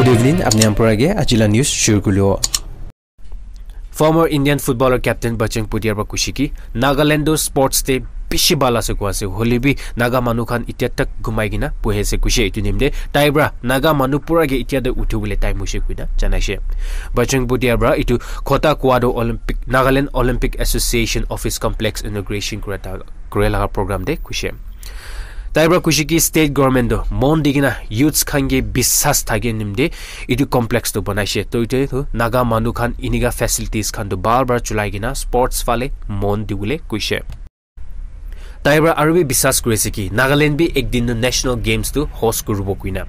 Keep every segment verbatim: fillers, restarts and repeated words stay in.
Good evening, apni khan pura ke aji la news shuru kuribo. Former Indian footballer captain Bachung Bhutia para kushi ki Nagaland to sports te bishi bhal ase koa ase, hoile bi Naga manu khan itia tak ghumai kena bohi ase kushi etu nimte tai para Naga manu pura ke itia te uthi bole time hoise koina janai she. Bachung Bhutia para etu khota koa to Olympic, Nagaland Olympic Association Office Complex inauguration kura ta, kura laga program te kushi. Tai para kushi ki state government to mon di kena youths khan ke bisas thake nimte etu complex to banai she. To etu to Naga manu khan inika facilities khan to bhal para chulai kena sports phale mon di bole kuishe. Tai para aru bi bisas kuri ase ki Nagaland bi ek din to national games to host kuribo koina.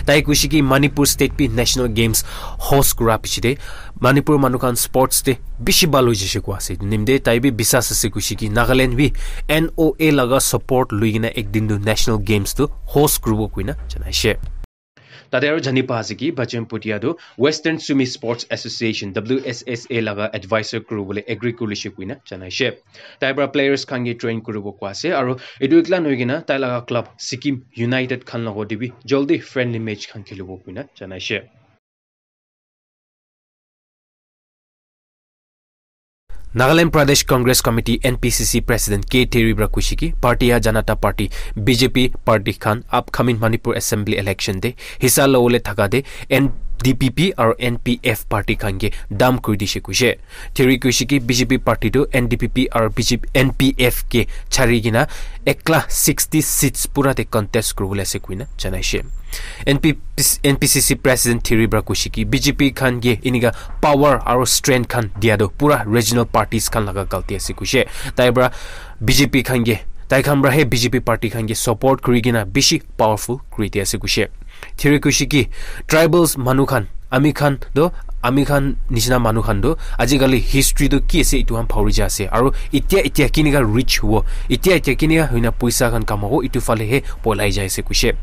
Tai kushi ki Manipur state bi national games host kura piche te Manipur manu khan sports te bishi bhal hoi jishe koa ase. Nimte tai bi bisas ase kushi ki Nagaland bi N O A laga support lui kena ek din to national games to host kuribo koina janai she. Tate aru jani pa ase ki Bachung Bhutia tu Western Sumi Sports Association, W S S A laga advisor kuri bole agree kuri lishe koina janai she. Tai para players khan ke train kuri bo koa ase aru etu ekla noi kena tai laga club Sikkim United khan logo te bi jaldi friendly match khan khelibo koina janai she. Nagaland Pradesh Congress Committee, N P C C President K Theri para kushi ki Bharatiya Janata Party, B J P party khan upcoming Manipur Assembly election te hissa lobole thaka te N D P P aru N P F party khan ke dam kuri dishe kuishe. Theri kuishe ki B J P party tu N D P P aru B J P, N P F ke chari kena ekla sixty seats pura te contest kuri bole ase koina janai she. N P P, N P C C President Theri para kushi ki B J P khan ke inika power aru strength khan dia tu pura regional parties khan laga galti ase kuishe. Tai para B J P khan ke, tai khan para he B J P party khan ke support kuri kena bishi powerful kuri dia ase kuishe. Theri kushi ki tribals manu khan, ami khan to, ami khan nishina manu khan to ajikali history to ki ase etu khan pahori ja ase. Aru itia, itia kinika rich hubo, itia, itia kinika hoina poisa khan kamabo, etu phale he polai jai ase kuishe.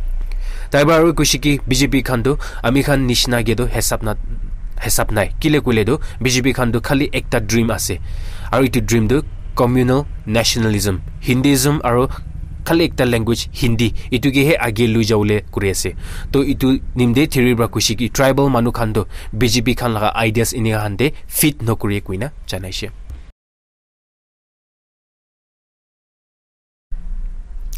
Tai para aru kushi ki B J P khan to ami khan nishina ke to hisab na, hisab nai. Kile koile to B J P khan to khali ekta dream ase. Aru etu dream to communal nationalism, Hinduism aru khali ekta language Hindi, etu ke he age lui jabole kuri ase. To etu nimte Theri para kushi ki tribal manu khan to B J P khan laga ideas inika khan te fit nokuri koina janai she.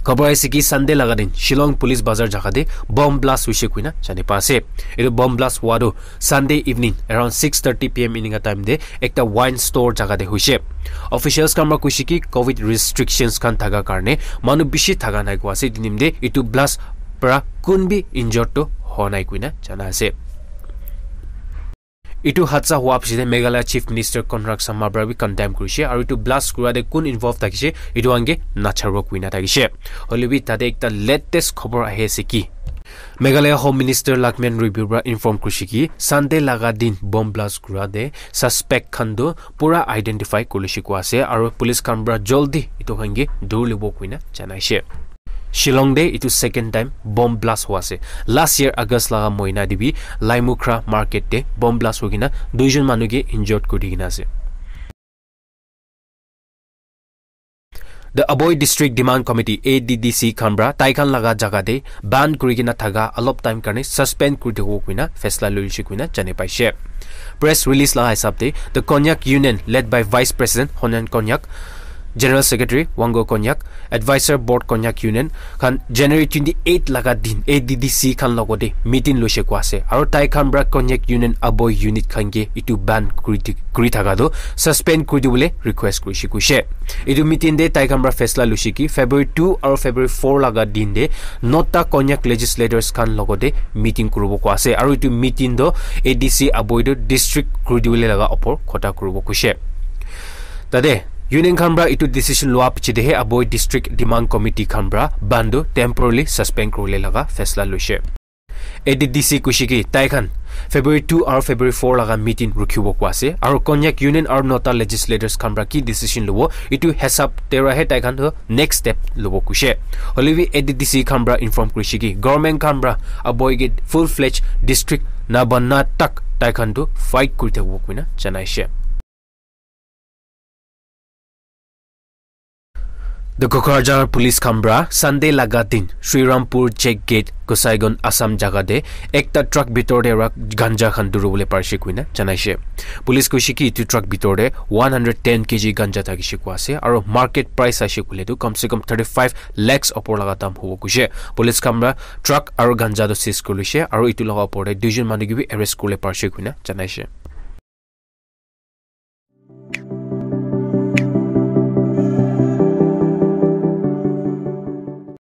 Khobor aise ki Sunday laga din Shillong Police Bazar jaga te bomb blast hoise koina jani pa ase. Etu bomb blast hua tu Sunday evening around six thirty P M enika time te ekta wine store jaga te hoise. Officials khan para koise ki covid restrictions khan thaka karne manu bishi thaka nai koa ase. Etu nimte etu blast para kun bi injured to hoa nai koina jana ase. Etu hadsa hua piche te Meghalaya Chief Minister Conrad Sangma para bi condemn kurishe aru etu blast kura te kun involve thakishe etu khan ke nacharibo koina thakishe. Hoile bi tate ekta latest khobor ahi ase ki Meghalaya Home Minister Lakmen Ribio para inform kurishe ki Sunday laga din bomb blast kura te suspect khan tu pura identify kurishe koa ase aru police khan para jaldi etu khan ke dhuri libo koina janaishe. Shillong te etu second time bomb blast hua ase. Last year August laga moina te bi Laimukhra market te bomb blast hoi kena duijon manu ke injured kuri di kena ase. The Aboi District Demand Committee, A D D C, khan para tai khan laga jaga te ban kuri kena thaka alop time karne suspend kuri dibo koina faisla loishe koina jane paishe. Press release laga hisab te, the Konyak Union, led by Vice President Honen Konyak, General Secretary Wango Konyak, Advisor Board Konyak Union khan January twenty eight laga din A D D C khan logote meeting loishe koa ase. Aru tai khan para Konyak Union Aboi unit khan ke etu ban kuri di, kuri thaka tu suspend kuri dibole request kurishe kuishe. Etu meeting te tai khan para faisla loishe ki February two aru February four laga din te nota Konyak legislators khan logote meeting kuribo koa ase. Aru etu meeting tu A D C Aboi tu district kuri dibole laga opor kotha kuribo kuishe. Tate union khan para etu decision loa piche te he Aboi District Demand Committee khan para ban tu temporarily suspend kuribole laga faisla loishe. A D D C kuishe ki tai khan February two aru February four laga meeting rukhibo koa ase. Aru Konyak Union aru nota legislators khan para ki decision lobo, etu hisab te para he tai khan tu next step lobo kuishe. Hoile bi A D D C khan para inform kurishe ki government khan para Aboi ke full fledged district na bana tak tai khan tu fight kuri thakibo koina janaishe. The Kokrajhar police khan pra Sunday laga din Srirampur check gate Gosaiganj Assam jaga te ekta truck bitor te ra ganja khan dhuribole parishe koina janaishe. Police koishe ki etu truck bitor te one hundred ten K G ganja thakishe koa ase aro market price aishe koile tu kam se kam thirty five lakhs opor laga dam hobo koishe. Police khan pra truck aro ganja tu seize kuri loishe aro etu laga opor te duijon manu ke bi arrest kuribole parishe koina janaishe.